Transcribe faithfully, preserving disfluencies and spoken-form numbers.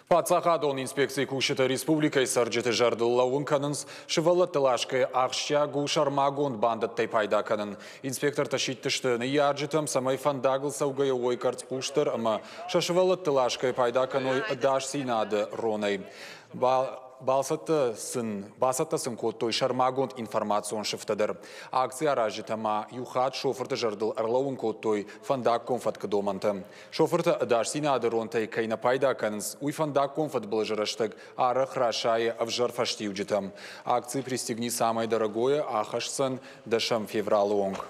Паддзахадон инспекцийы кусджытӕ республикӕйы цӕрджыты зӕрдыл лӕууын кӕнынц, сывӕллӕтты ласгӕйӕ ахсджиаг у сӕрмагонд бандӕттӕй пайда кӕнын. Инспектортӕ сидтысты ныййарджытӕм, цӕмӕй фӕндагыл цӕугӕйӕ уой къӕрцхъусдӕр ӕмӕ сӕ сывӕллӕтты ласгӕйӕ пайда кӕной ӕдасдзинады ронӕй. Бацӕттӕ сын, бацӕттӕ сын кодтой сӕрмагонд информацион сыфтӕ дӕр. Акци аразджытӕ ма иу хатт шофырты зӕрдыл ӕрлӕууын кодтой фӕндаггон фӕткы домӕнтӕ. Шофыртӕ ӕдасдзинады ронтӕй кӕй нӕ пайда кӕнынц, уый фӕндаггон фыдбылызы рӕстӕг арӕх расайы ӕвзӕр фӕстиуджытӕм. Акци «Пристегни самое дорогое» ахӕсдзӕн дӕсӕм февралы онг.